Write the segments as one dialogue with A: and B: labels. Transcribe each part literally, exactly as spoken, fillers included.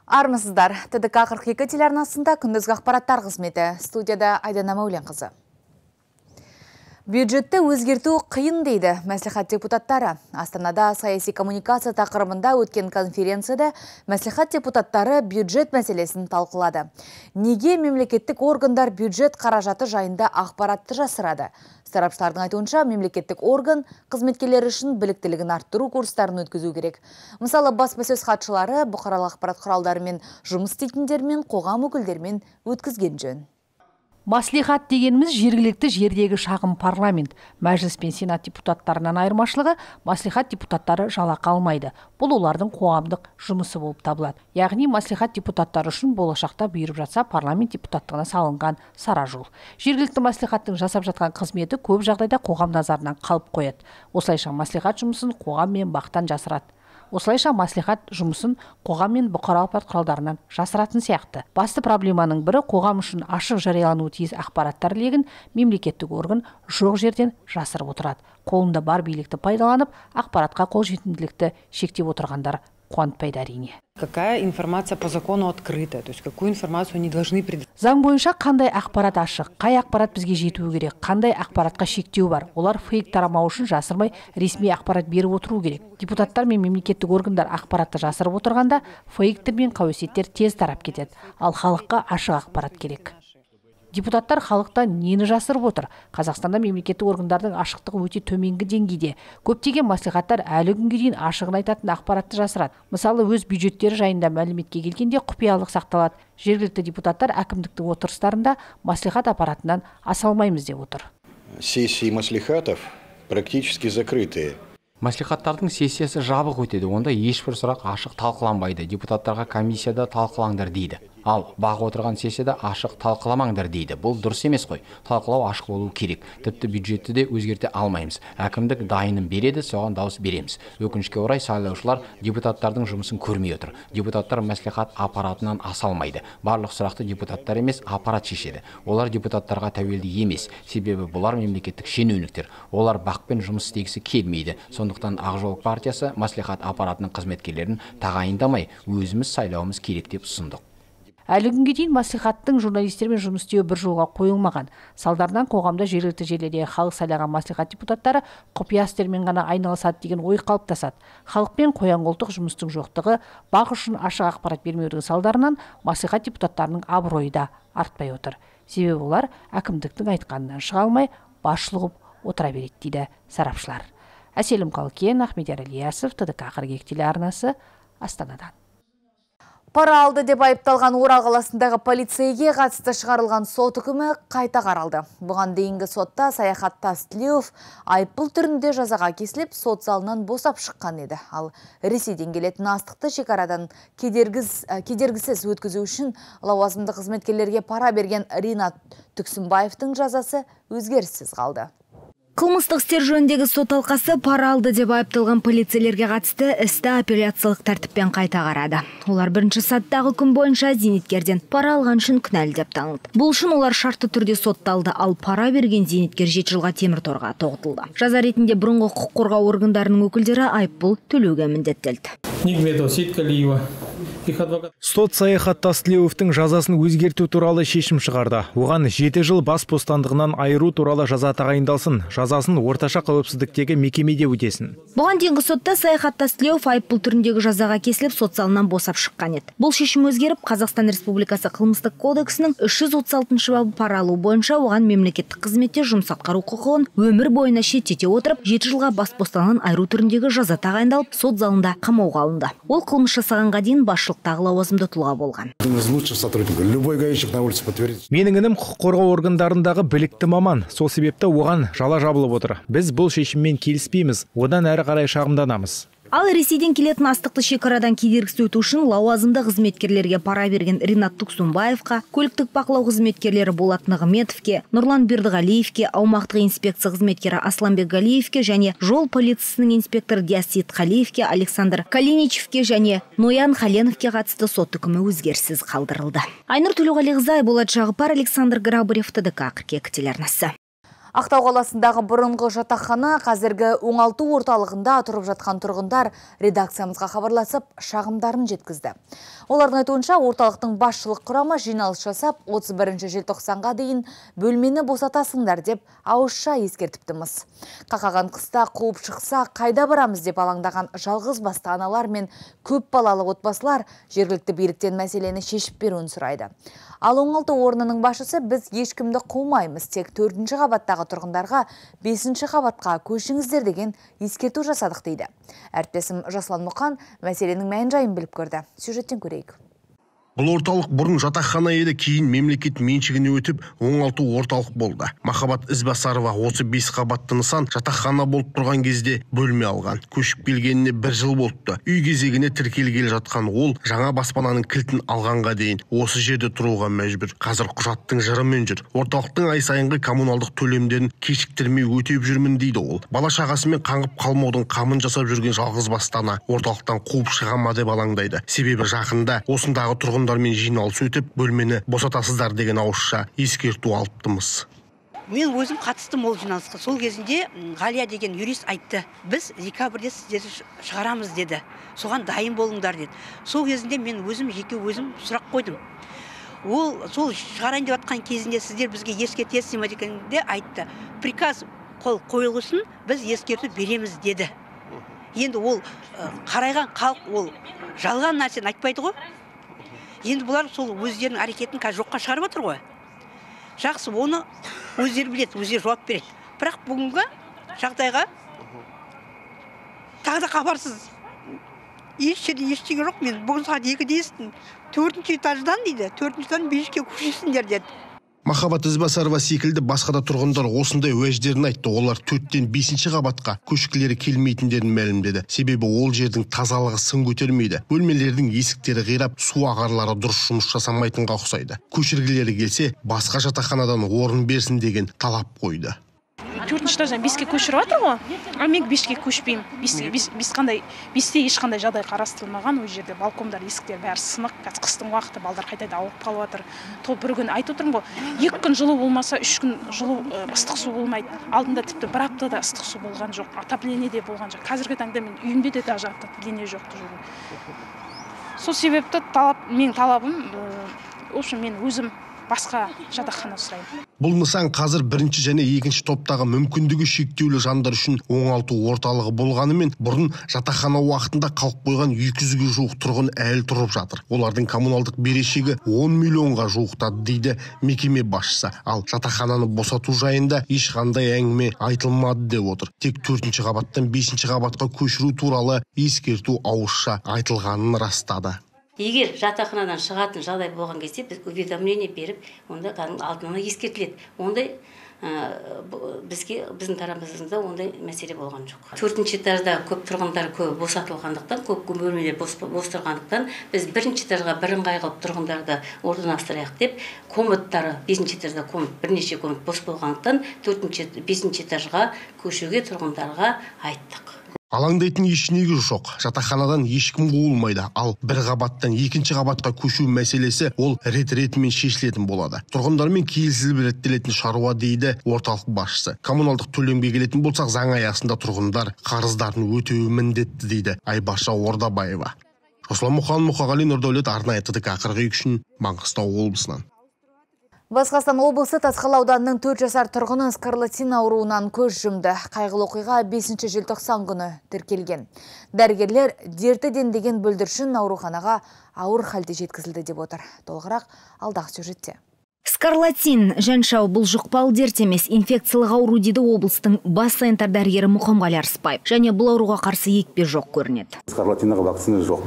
A: Армысыздар. Т Д К қырық екі телеарнасында күндізгі ақпараттар қызметі. Студияда Айдана Мәуленқызы. Бюджетті өзгерту қиын дейді мәслихат депутаттары. Астанада саяси коммуникация тақырыбында өткен конференцияда мәслихат депутаттары бюджет мәселесін талқылады. Неге мемлекеттік органдар бюджет қаражаты жайында ақпаратты жасырады? Сарапшылардың айтуынша, мемлекеттік орган қызметкерлері үшін біліктілігін арттыру курстарын өткізу керек. Мысалы, баспасөз хатшылары бұқаралық ақпарат құралдарымен жұмыс істейтіндермен, қоғам өкілдерімен өткізген жөн.
B: Маслихат дегеніміз жергілікті жердегі шағын парламент. Мәжіліс пен сенат депутаттарынан айырмашылығы, маслихат депутаттары жалақы алмайды. Бұл олардың қоғамдық жұмысы болып табылады. Яғни маслихат депутаттары үшін болашақта бұйырып жатса парламент депутаттығына салынған сара жол. Жергілікті маслихаттың жасап жатқан қызметі көп жағдайда қоғам назарынан қалып қояды. Осылайша маслихат жұмысын қоғам мен бақтан жасырады. Осылайша маслихат жұмысын қоғам мен бұқаралық ақпарат құралдарынан жасыратын сияқты. Басты проблеманың бірі қоғам үшін ашық жариялануы тиіс ақпараттар легін мемлекеттік орган жоқ жерден жасырып отырады. Қолында бар билікті пайдаланып, ақпаратқа қолжетімділікті шектеп отырғандар қуантпайды әрине.
C: Какая информация по закону открыта, то есть какую информацию они должны предоставить.
B: Заң бойынша қандай ақпарат ашық, қай ақпарат бізге жетуі керек, қандай ақпаратқа шектеу бар. Олар фейк тарамау үшін жасырмай ресми ақпарат беріп отыру керек. Депутаттар мен мемлекеттік органдар ақпаратты жасырып отырғанда фейктер мен қауесеттер тез тарап кетеді. Ал халыққа ашық ақпарат керек. Депутаттар халықта нені жасырып отыр? Қазақстанда мемлекеттік органдардың ашықтығы өте төменгі деңгейде. Көптеген маслихаттар әлі күнге дейін ашығын айтатын ақпаратты жасырады. Мысалы, өз бюджеттері жайында мәліметке келгенде құпиялық сақталады. Жергілікті депутаттар әкімдіктің отырыстарында маслихат аппаратынан аса алмаймыз деп отыр.
D: Сессии маслихатов практически закрытые.
E: Маслихаттардың сессиясы жабық өтеді. Онда ешбір сұрақ ашық талқыланбайды. Депутаттарға комиссияда талқылаңдар дейді. Ал бақ отырған сессияда ашық талқыламаңдар дейді. Бұл дұрыс емес қой. Талқылау ашық болуы керек. Тіпті бюджетті де өзгерте алмаймыз. Әкімдік дайынын береді, соған дауыс береміз. Өкінішке орай сайлаушылар депутаттардың жұмысын көрмей отыр. Депутаттар маслихат аппаратынан аса алмайды. Барлық сұрақты депутаттар емес, аппарат шешеді. Олар депутаттарға тәуелді емес. Себебі бұлар мемлекеттік шенеуніктер. Олар бақпен жұмыс істегісі келмейді. Сондықтан Ақ жол партиясы маслихат аппаратының қызметкерлерін тағайындамай, өзіміз сайлауымыз керек деп ұсындық.
B: Әлі күнге дейін маслихаттың журналистермен жұмыс істеуі бір жолға қойылмаған. Салдарынан қоғамда жергілікті жерлерде халық сайлаған маслихат депутаттары құпия істермен ғана айналысады деген ой қалыптасады. Халықпен қоян-қолтық жұмыстың жоқтығы, бақ үшін ашық ақпарат бермеудің салдарынан маслихат депутаттарының абыройы да артпай отыр. Себебі олар әкімдіктің айтқанынан шыға алмай, басшылық отыра береді дейді сарапшылар. Әселім Қалкен, Ахмедияр Ильясов, Т Д К қырық екі телеарнасы, Астанадан.
A: Пара алды деп айыпталған Орал қаласындағы полицейге қатысты шығарылған сот үкімі қайта қаралды. Бұған дейінгі сотта Саяхат Тастілеуов айыппұл түрінде жазаға кесіліп, сот залынан босап шыққан еді. Ал Ресейден келетін астықты шекарадан кедергіз, кедергісіз өткізу үшін лауазымды қызметкерлерге пара берген Ринат Түксімбаевтың жазасы өзгеріссіз қалды.
F: Қылмыстық істер жөніндегі сот алқасы пара алды деп айыпталған полицейлерге қатысты істі апелляциялық тәртіппен қайта қарады. Олар бірінші саттағы күн бойынша зейнеткерден пара алған үшін кінәлі деп танылды. Бұл үшін олар шартты түрде сотталды, ал пара берген зейнеткер жеті жылға темір торға тоғытылды. Жаза ретінде бұрынғы құқық қорғау органдарының өкілдері айыппұл төлеуге міндеттелді.
G: Сот Саяхат Тастілеуовтың жазасын өзгерту туралы шешім шығарды. Оған жеті жыл бас бостандығынан айыру туралы жаза тағайындалсын, жазасын орташа қауіпсіздіктегі мекемеде өтесін.
F: Бұған дейінгі сотта Саяхат Тастілеуов айыппұл түріндегі жазаға кесіліп, сот залынан босап шыққан еді. Бұл шешім өзгеріп, Қазақстан Республикасы қылмыстық кодексінің үш жүз отыз алтыншы бабы пара алу бойынша оған мемлекеттік қызметте жұмыс атқару құқығын өмір бойына шеттете отырып, жеті жылға бас бостандығынан айыру түріндегі жаза тағайындалып, сот залында қамауға алынды. Ол қылмыс жасағанға дейін басшылықтағы лауазымды тұлға болған.
G: Менің інім құқық қорғау органдарындағы білікті маман. Сол себепті оған жала жабылып отыр. Біз бұл шешіммен келіспейміз, одан әрі қарай шағымданамыз.
F: Ал Ресейден келетін астықты шекарадан кедергісіз өту үшін лауазымды қызметкерлерге пара берген Ринат Түксімбаевқа, көліктік бақылау қызметкерлері Болат Нығыметовке, Нұрлан Бердіғалиевке, аумақтық инспекция қызметкері Асланбек Галиевке және жол полициясының инспекторы Диасит Қалиевке, Александр Калиничевке және Ноян Халеновке қатысты сот үкімі өзгеріссіз қалдырылды. Айнұр Төлеуғалиқызы, Айболат Жағыпар, Александр Грабарев, Т Д К қырық екі телеарнасы.
A: Ақтау қаласындағы бұрынғы жатақхана қазіргі оңалту орталығында тұрып жатқан тұрғындар редакциямызға хабарласып шағымдарын жеткізді. Олардың айтуынша орталықтың басшылық құрамы жиналыс жасап отыз бірінші желтоқсанға дейін бөлмені босатасыңдар деп ауызша ескертіптіміз. Қақаған қыста қуып шықса қайда барамыз деп алаңдаған жалғыз басты аналар мен көп балалы отбасылар жергілікті биліктен мәселені шешіп беруін сұрайды. Ал оңалту орнының басшысы біз ешкімді қумаймыз, тек төртінші қабаттағы тұрғындарға бесінші қабатқа көшіңіздер деген ескерту жасадық дейді. Әріптесім Жасұлан Мұқан мәселенің мән жайын біліп көрді. Сюжеттен көрейік.
H: Бұл орталық бұрын жатақхана еді, кейін мемлекет меншігіне өтіп, оңалту орталық болды. Махаббат Ізбасарова отыз бес қабатты нысан жатақхана болып тұрған кезде бөлме алған. Көшіп келгеніне бір жыл болыпты. Үй кезегіне тіркелгелі жатқан ол жаңа баспананың кілтін алғанға дейін осы жерде тұруға мәжбүр. Қазір құжаттың жырымен жүр. Орталықтың ай сайынғы коммуналдық төлемдерін кешіктірмей өтеп жүрмін дейді ол. Бала шағасымен қаңғып қалмаудың қамын жасап жүрген жалғыз бастана орталықтан қуып шыға ма деп алаңдайды. Себебі жақында осындағы тұрғын мен жиналыс өтіп, бөлмені босатасыздар деген ауызша ескерту алыптымыз.
I: Мен өзім қатыстым ол жиналысқа. Сол кезінде Ғалия деген юрист айтты. Біз декабрьде сіздерді шығарамыз деді. Соған дайын болыңдар деді. Сол кезінде мен өзім жеке өзім сұрақ қойдым. Ол сол шығарайын деп жатқан кезінде сіздер бізге ескертесіз ме дегенде айтты. Приказ қол қойылғысын біз ескерту береміз деді. Енді ол қарайған халық ол жалған нәрсені айтпайды ғой. Енді бұлар сол өздерінің әрекетін қазір жоққа шығарып отыр ғой. Жақсы, оны өздері біледі, өздері жауап береді. Бірақ бүгінгі жағдайға тағы да хабарсыз. Ешшеде ештеңе жоқ. Мен бүгін сағат екіде естідім. Төртінші этаждан дейді, төртінші этаждан беске көшесіңдер деді.
H: Махаббат Ізбасарова секілді басқа да тұрғындар осындай уәждерін айтты. Олар төрттен бесінші қабатқа көшкілері келмейтіндерін мәлімдеді. Себебі ол жердің тазалығы сын көтермейді. Бөлмелердің есіктері қирап, су ағарлары дұрыс жұмыс жасамайтынға ұқсайды. Көшіргілері келсе, басқа жатақханадан орын берсін деген талап қойды.
J: Төртінші этаждан беске көшіріп жатыр ғой. А мен беске көшпеймін. Бес қандай, бесте ешқандай жағдай қарастырылмаған. Ол жерде балкондар, есіктер бәрі сынық. Қазір қыстың уақыты балдар қайта ауырып қалып жатыр. То бір күн айтып отырмын ғой. Екі күн жылу болмаса, үш күн жылу ыстық су болмайды. Алдында тіпті бір аптада ыстық су болған жоқ. Отопление де болған жоқ. Қазіргі таңда мен үйімде де даже отопление жоқ. Сол себепті талап, мен талабым, в общем, мен өзім басқа жатақхана сұраймын.
H: Бұл нысан қазір бірінші және екінші топтағы мүмкіндігі шектеулі жандар үшін оңалту орталығы болғанымен, бұрын жатақхана уақытында қалып қойған екі жүзге жуық тұрғын әлі тұрып жатыр. Олардың коммуналдық берешегі он миллионға жуықтады дейді мекеме басшысы. Ал жатақхананы босату жайында ешқандай әңгіме айтылмады деп отыр. Тек төртінші қабаттан бесінші қабатқа көшіру туралы ескерту ауызша айтылғанын растады.
K: Егер жатақханадан шығатын жағдай болған кезде біз уведомление беріп, онда алдына ескертіледі. Ондай бізге біздің тарапымызда ондай мәселе болған жоқ. Төртінші этажда көп тұрғындар көп босатылғандықтан, көп бөлмелер бос тұрғандықтан, біз бірінші этажға бірыңғай қылып тұрғындарды орналастырайық деп, комнаттары бесінші этажда комнат, бірнеше комнат бос болғандықтан, төртінші, бесінші этажға көшуге тұрғындарға айттық.
H: Алаңдайтын ешнегі жоқ. Жатақханадан ешкім қуылмайды. Ал бір қабаттан екінші қабатқа көшу мәселесі ол рет-ретімен шешілетін болады. Тұрғындармен келісіліп реттелетін шаруа дейді орталық басшысы. Коммуналдық төлемге келетін болсақ, заң аясында тұрғындар қарыздарын өтеуі міндетті дейді Айбаша Ордабаева. Жасұлан Мұқан, Мұқағали, Нұрдәулет, арнайы ТДК қырық екі үшін Маңғыстау облысынан.
A: Батыс Қазақстан облысы Тасқала ауданының төрт жасар тұрғыны скарлатин ауруынан көз жұмды. Қайғылы оқиға бесінші желтоқсан күні тіркелген. Дәрігерлер дерті дендеген бүлдіршін ауруханаға ауыр халде жеткізілді деп отыр. Толығырақ алдағы сюжетте.
F: Скарлатин жаншау бұл жұқпалы дерт емес, инфекциялық ауру дейді облыстың бас санитар дәрігері Мұхамғали Арыспаев. Және бұл ауруға қарсы екпе жоқ көрінеді.
L: Скарлатинға вакцина жоқ.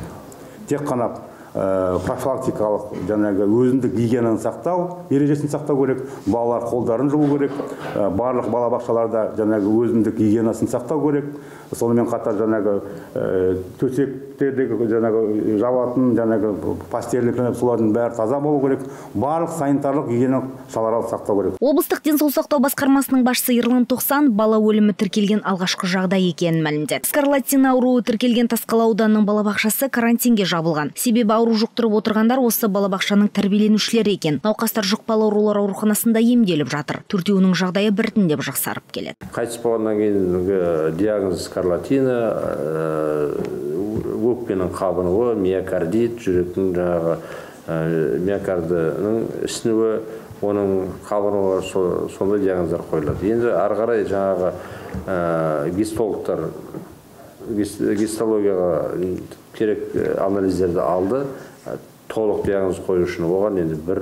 L: Тек қана профилактикалық жаңағы өзіндік гигиенаны сақтау, ережесін сақтау керек, балалар қолдарын жуу керек, барлық балабақшаларда жаңағы өзіндік гигиенасын сақтау керек. Сонымен қатар жаңағы төсектердегі жаңағы жабатын жаңағы постельдік солардың бәрі таза болу керек. Барлық санитарлық гигиеналық шараларды сақтау керек.
F: Облыстық денсаулық сақтау басқармасының басшысы Ерлан Тоқсан бала өлімі тіркелген алғашқы жағдай екенін мәлімдеді. Скарлатин ауруы тіркелген Тасқала ауданының балабақшасы карантинге жабылған. Себебі ауру жұқтырып отырғандар осы балабақшаның тәрбиеленушілері екен. Науқастар жұқпалы аурулар ауруханасында емделіп жатыр. Төртеуінің жағдайы біртіндеп жақсарып келеді.
M: Қайтыс болғаннан кейін диагноз скарлатина, өкпенің қабынуы, миокардит, жүректің жаңағы миокардының ісінуі, оның қабынуы, сондай диагноздар қойылады. Енді ары қарай жаңағы гистологтар гистологияға керек анализдерді алды. Толық диагноз қою үшін оған енді бір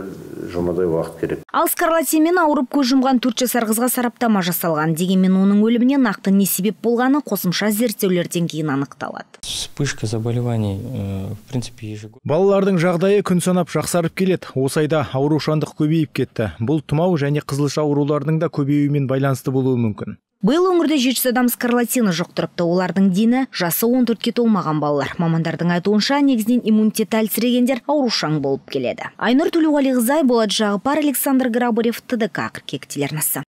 M: жұмадай уақыт керек.
F: Ал скарлатинмен ауырып көз жұмған төрт жасар қызға сараптама жасалған. Дегенмен оның өліміне нақты не себеп болғаны қосымша зерттеулерден кейін анықталады.
N: Вспышка заболеваний, в принципе, ежегодно.
G: Балалардың жағдайы күн санап жақсарып келеді. Осы айда аурушаңдық көбейіп кетті. Бұл тұмау және қызылша аурулардың да көбеюімен байланысты болуы мүмкін.
F: Биыл өңірде жеті жүз адам скарлатина жұқтырыпты. Олардың дені жасы он төртке толмаған балалар. Мамандардың айтуынша, негізінен иммунитеті әлсірегендер аурушаң болып келеді. Айнұр Төлеуғалиқызы, Болат Жағыпар, Александр Грабарев, Т Д К қырық екі телеарнасы.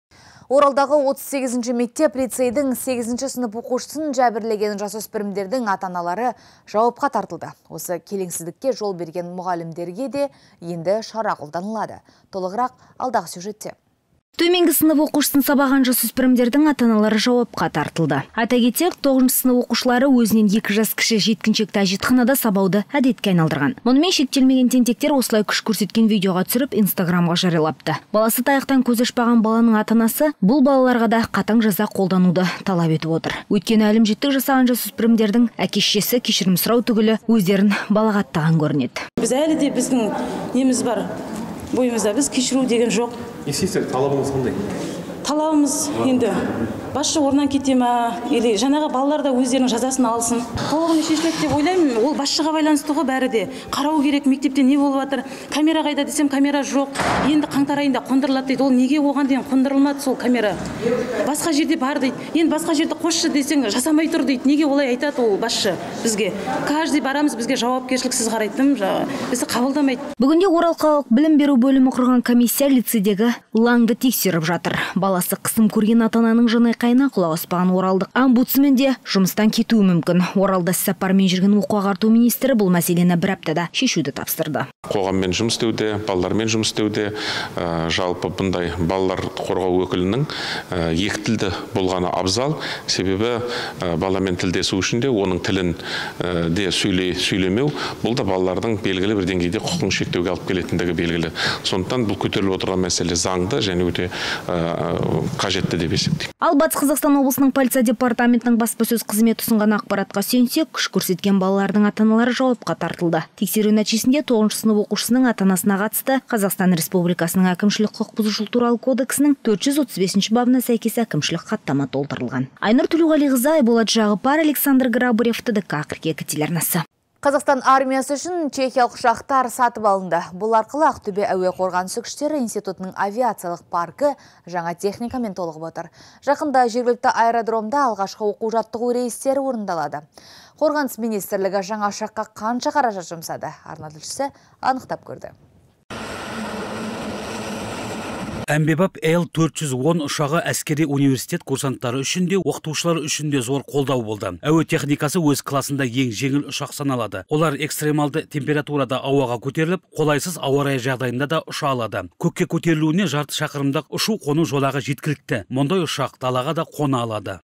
A: Оралдағы отыз сегізінші мектеп лицейдің сегізінші сынып оқушысын жәбірлеген жасөспірімдердің ата-аналары жауапқа тартылды. Осы келеңсіздікке жол берген мұғалімдерге де енді шара қолданылады. Толығырақ алдағы сюжетте.
F: Төменгі сынып оқушысын сабаған жасөспірімдердің ата-аналары жауапқа тартылды. Айта кетсек, тоғызыншы сынып оқушылары өзінен екі жас кіші жеткіншекті әжетханада сабауды әдетке айналдырған. Мұнымен шектелмеген тентектер осылай күш көрсеткен видеоға түсіріп Инстаграмға жариялапты. Баласы таяқтан көз ашпаған баланың ата-анасы бұл балаларға да қатаң жаза қолдануды талап етіп отыр. Өйткені әлімжеттік жасаған жасөспірімдердің әке-шешесі кешірім сұрау түгілі өздерін балағаттаған көрінеді.
O: Біз әлі де біздің неміз бар. Бойымызда біз кешіру деген жоқ.
P: Естественно, талабыңыз қандай?
O: Талабымыз енді басшы орнан кете ма, или жаңағы балалар да өздерінің жазасын алсын. Толығымен шешіледі деп ойлаймын. Ол басшыға байланысты ғой бәрі де. Қарау керек, мектепте не болып жатыр? Камера қайда десем, камера жоқ. Енді қаңтар айында қондырылады дейді. Ол неге оған дейін қондырылмады сол камера? Басқа жерде бар дейді. Енді басқа жерде қосшы десең, жасамай тұр дейді. Неге олай айтады ол басшы бізге? Каждый барамыз, бізге жауапкершіліксіз қарайтын, бізді қабылдамайды.
F: Бүгінде Орал қалалық білім беру бөлімі құрған комиссия лицейдегі лаңды тексеріп жатыр. Баласы қысым көрген ата-ананың жаны қайна құлақ аспаған оралдық омбудсмен де жұмыстан кетуі мүмкін. Оралда іссапармен жүрген оқу ағарту министрі бұл мәселені бір аптада шешуді тапсырды.
Q: Қоғаммен жұмыс істеуде, балалармен жұмыс істеуде, жалпы бұндай балалар қорғау өкілінің екі тілді болғаны абзал. Себебі баламен тілдесу үшін де оның тілін де сөйлемеу, бұл да балалардың белгілі бір деңгейде құқығын шектеуге алып келетіндігі белгілі. Сондықтан бұл көтеріліп отырған мәселе заңды және өте қажетті деп есептеймін.
F: Ал Батыс Қазақстан облысының полиция департаментінің баспасөз қызметі ұсынған ақпаратқа сүйенсек, күш көрсеткен балалардың ата-аналары жауапқа тартылды. Тексеру нәтижесінде тоғызыншы сынып оқушысының ата-анасына қатысты Қазақстан Республикасының әкімшілік құқық бұзушылық туралы кодексінің төрт жүз отыз бесінші бабына сәйкес әкімшілік хаттама толтырылған. Айнұр Төлеуғалиқызы, Болат Жағыпар, Александр Грабарев, Т Д К қырық екі телеарнасы.
A: Қазақстан армиясы үшін чехиялық ұшақтар сатып алынды. Бұл арқылы Ақтөбе әуе қорғанысы күштері институтының авиациялық паркі жаңа техникамен толығып отыр. Жақында жергілікті аэродромда алғашқы оқу жаттығу рейстері орындалады. Қорғаныс министрлігі жаңа ұшаққа қанша қаражат жұмсады? Арна тілшісі анықтап көрді.
R: Әмбебап Л төрт жүз он ұшағы әскери университет курсанттары үшін де, оқытушылар үшін де зор қолдау болды. Әуе техникасы өз классында ең жеңіл ұшақ саналады. Олар экстремалды температурада ауаға көтеріліп, қолайсыз ауа райы жағдайында да ұша алады. Көкке көтерілуіне жарты шақырымдық ұшу қону жолағы жеткілікті. Мұндай ұшақ далаға да қона алады.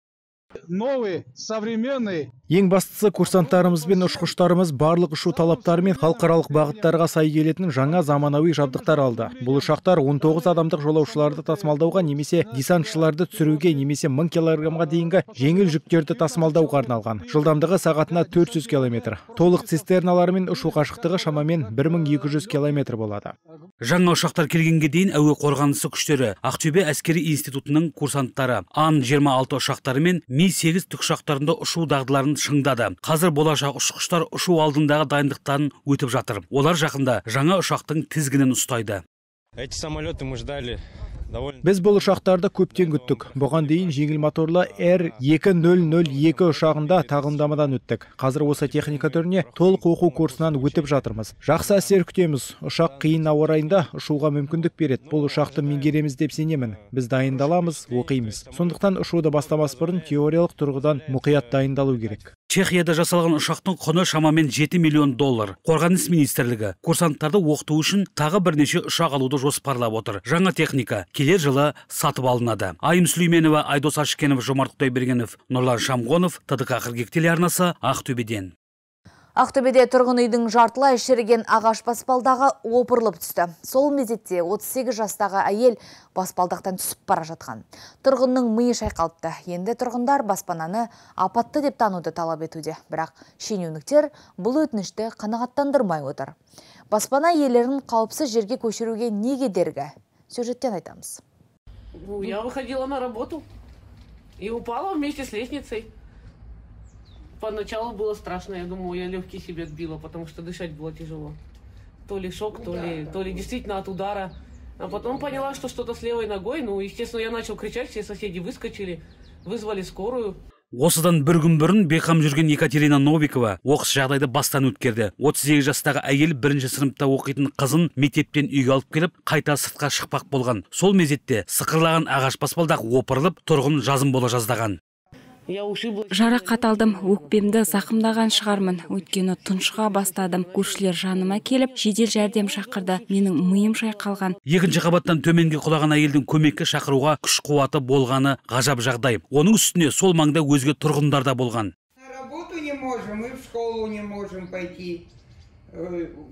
S: Новый, современный.
G: Ең бастысы курсанттарымыз бен ұшқыштарымыз барлық ұшу талаптары мен халықаралық бағыттарға сай келетін жаңа заманауи жабдықтар алды. Бұл ұшақтар он тоғыз адамдық жолаушыларды тасымалдауға немесе десантшыларды түсіруге немесе мың килограммға дейінгі жеңіл жүктерді тасымалдауға арналған. Жылдамдығы сағатына төрт жүз километр. Толық цистерналарымен ұшу қашықтығы шамамен бір мың екі жүз километр болады.
R: Жаңа ұшақтар келгенге дейін әуе қорғанысы күштері Ақтөбе әскери институтының курсанттары Ан жиырма алты ұшақтары мен Ми сегіз тікұшақтарында ұшу дағдыларын шыңдады. Қазір болашақ ұшқыштар ұшу алдындағы дайындықтарын өтіп жатыр. Олар жақында жаңа ұшақтың тізгінін ұстайды.
P: Эти самолеты мы ждали.
G: Біз бұл ұшақтарды көптен күттік. Бұған дейін жеңіл моторлы Р екі нөл нөл екі ұшағында тағылымдамадан өттік. Қазір осы техника түріне толық оқу курсынан өтіп жатырмыз. Жақсы әсер күтеміз. Ұшақ қиын ауа райында ұшуға мүмкіндік береді. Бұл ұшақты меңгереміз деп сенемін. Біз дайындаламыз, оқимыз. Сондықтан ұшуды бастамас бұрын теориялық тұрғыдан мұқият дайындалу керек.
R: Чехияда жасалған ұшақтың құны шамамен жеті миллион доллар. Қорғаныс министрлігі курсанттарды оқыту үшін тағы бірнеше ұшақ алуды жоспарлап отыр. Жаңа техника келер жылы сатып алынады. Айым Сүлейменова, Айдос Ашкенов, Жомарт Құдайбергенов, Нұрлан Шамғонов, ТДК қырық екі телеарнасы, Ақтөбеден.
A: Ақтөбеде тұрғын үйдің жартылай шіріген ағаш баспалдағы опырылып түсті. Сол мезетте отыз сегіз жастағы әйел баспалдақтан түсіп бара жатқан. Тұрғынның миы шайқалыпты. Енді тұрғындар баспананы апатты деп тануды талап етуде. Бірақ шенеуніктер бұл өтінішті қанағаттандырмай отыр. Баспана иелерін қауіпсіз жерге көшіруге не кедергі? Сюжеттен айтамыз.
T: Я выходила на работу и упала вместе с лестницей. Поначалу было страшно, я думаю, я легкие себе отбила, потому что дышать было тяжело. То ли шок, то ли, то ли действительно от удара. А потом поняла, что что-то с левой ногой. Ну, естественно, я начал кричать, все соседи выскочили, вызвали скорую.
R: Осыдан бір күн бұрын бейқам жүрген Екатерина Новикова оқыс жағдайды бастан өткерді. отыз сегіз жастағы әйел бірінші сыныпта оқитын қызын мектептен үйге алып келіп, қайта сыртқа шықпақ болған. Сол мезетте сықырлаған ағаш баспалдақ опырылып, тұрғын жазым бола жаздаған.
U: Жарақат алдым, өкпемді зақымдаған шығармын. Өйткені тұншыға бастадым. Көршілер жаныма келіп, жедел жәрдем шақырды. Менің миым шайқалған.
R: Екінші қабаттан төменге құлаған әйелдің көмекке шақыруға күш қуаты болғаны ғажап жағдай. Оның үстіне сол маңда өзге тұрғындар да болған.
V: На работу не можем, и в школу не можем пойти.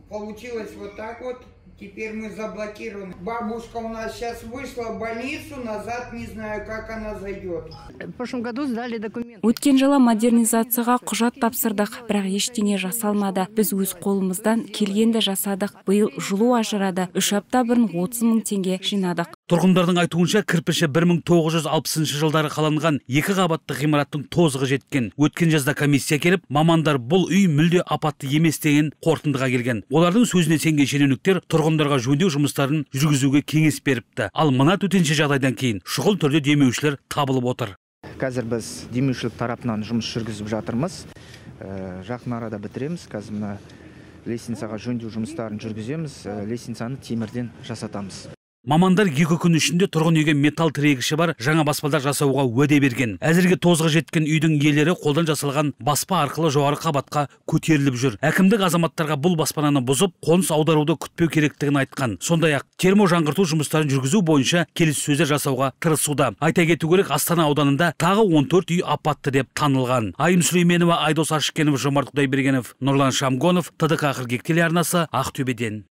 V: Получилось вот так вот. Теперь мы заблокированы. Бабушка у нас сейчас вышла в больницу, назад не знаю, как она зайдет.
U: В прошлом году сдали документы. Өткен жылы модернизацияға құжат тапсырдық, бірақ ештеңе жасалмады. Біз өз қолымыздан келгенді жасадық. Биыл жылу ажырады. Үш апта бұрын отыз мың теңге жинадық.
R: Тұрғындардың айтуынша кірпіші бір мың тоғыз жүз алпысыншы жылдары қаланған екі қабатты ғимараттың тозығы жеткен. Өткен жазда комиссия келіп, мамандар бұл үй мүлде апатты емес деген қорытындыға келген. Олардың сөзіне сенген шенеуніктер тұрғындарға жөндеу жұмыстарын жүргізуге кеңес беріпті. Ал мына төтенше жағдайдан кейін шұғыл түрде демеушілер табылып отыр.
W: Қазір біз демеушілік тарапынан жұмыс жүргізіп жатырмыз. Жақын арада бітіреміз. Қазір мына лестницаға жөндеу жұмыстарын жүргіземіз. Лестницаны темірден жасатамыз.
R: Мамандар екі күн ішінде тұрғын үйге металл тірегіші бар жаңа баспалдақ жасауға уәде берген. Әзірге тозығы жеткен үйдің иелері қолдан жасалған баспа арқылы жоғары қабатқа көтеріліп жүр. Әкімдік азаматтарға бұл баспананы бұзып, қоныс аударуды күтпеу керектігін айтқан. Сондай-ақ термо жаңғырту жұмыстарын жүргізу бойынша келіссөздер жасауға тырысуда. Айта кету керек, Астана ауданында тағы он төрт үй апатты деп танылған. Айым Сүлейменова, Айдос Ашкенов, Жомарт Құдайбергенов, Нұрлан Шамғонов, ТДК қырық екі телеарнасы, Ақтөбеден.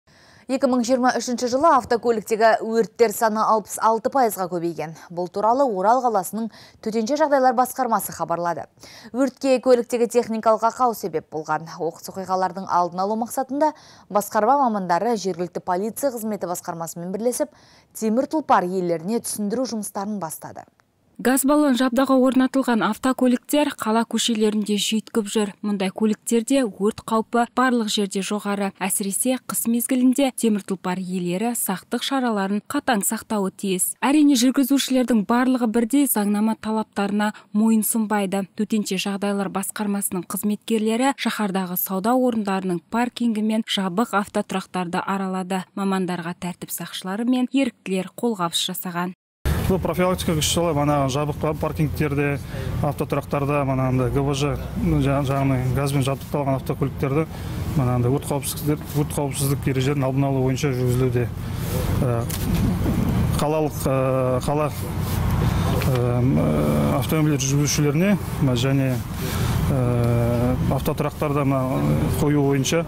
A: екі мың жиырма үшінші жылы автокөліктегі өрттер саны алпыс алты пайызға көбейген. Бұл туралы Орал қаласының төтенше жағдайлар басқармасы хабарлады. Өртке көліктегі техникалық ақау себеп болған. Оқыс оқиғалардың алдын алу мақсатында басқарма мамандары жергілікті полиция қызметі басқармасымен бірлесіп, темір тұлпар иелеріне түсіндіру жұмыстарын бастады.
U: Газ баллон жабдығы орнатылған автокөліктер қала көшелерінде жүйткіп жүр. Мұндай көліктерде өрт қаупі барлық жерде жоғары. Әсіресе қыс мезгілінде темір тұлпар иелері сақтық шараларын қатаң сақтауы тиіс. Әрине жүргізушілердің барлығы бірдей заңнама талаптарына мойынсұнбайды. Төтенше жағдайлар басқармасының қызметкерлері шаһардағы сауда орындарының паркингі мен жабық автотұрақтарды аралады. Мамандарға тәртіп сақшылары мен еріктілер қолғабыс жасаған.
X: Бұл профилактика күші мана жабық паркингтерде, автотұрақтарда, мана ГВЖ жағынан газбен жабдықталған автокөліктерді мана өрт қауіпсіздік, өрт қауіпсіздік ережелерін алдын алу бойынша жүргізілуде. Қалалық қала автомобиль жүргізушілеріне және автотұрақтарда қою бойынша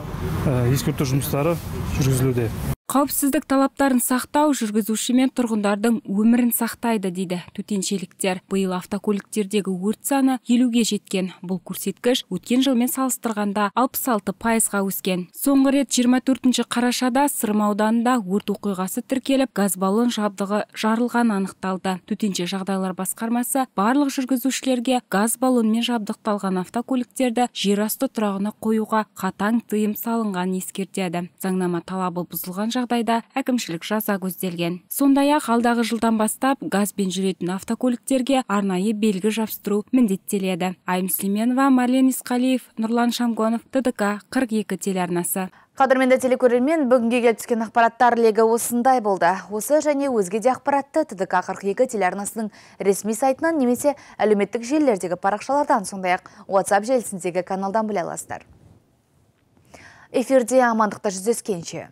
X: ескерту жұмыстары жүргізілуде.
U: Қауіпсіздік талаптарын сақтау жүргізуші мен тұрғындардың өмірін сақтайды дейді төтеншеліктер. Биыл автокөліктердегі өрт саны елуге жеткен. Бұл көрсеткіш өткен жылмен салыстырғанда алпыс алты пайызға өскен. Соңғы рет жиырма төртінші қарашада Сырым ауданында өрт оқиғасы тіркеліп, газ баллон жабдығы жарылған анықталды. Төтенше жағдайлар басқармасы барлық жүргізушілерге газ баллонмен жабдықталған автокөліктерді жер асты тұрағына қоюға қатаң тыйым салынған ескертеді. Заңнама талабы бұзылған жағдайда әкімшілік жаза көзделген. Сондай-ақ алдағы жылдан бастап газбен жүретін автокөліктерге арнайы белгі жабыстыру міндеттеледі. Айым Сүлейменова, Марлен Исқалиев, Нұрлан Шамгонов, Т Д К қырық екі телеарнасы.
A: Қадірменді телекөрермен, бүгінге келіп түскен ақпараттар легі осындай болды. Осы және өзге де ақпаратты Т Д К қырық екі телеарнасының ресми сайтынан немесе әлеуметтік желілердегі парақшалардан, сондай-ақ WhatsApp желісіндегі каналдан біле аласыздар. Эфирде амандықта жүздескенше.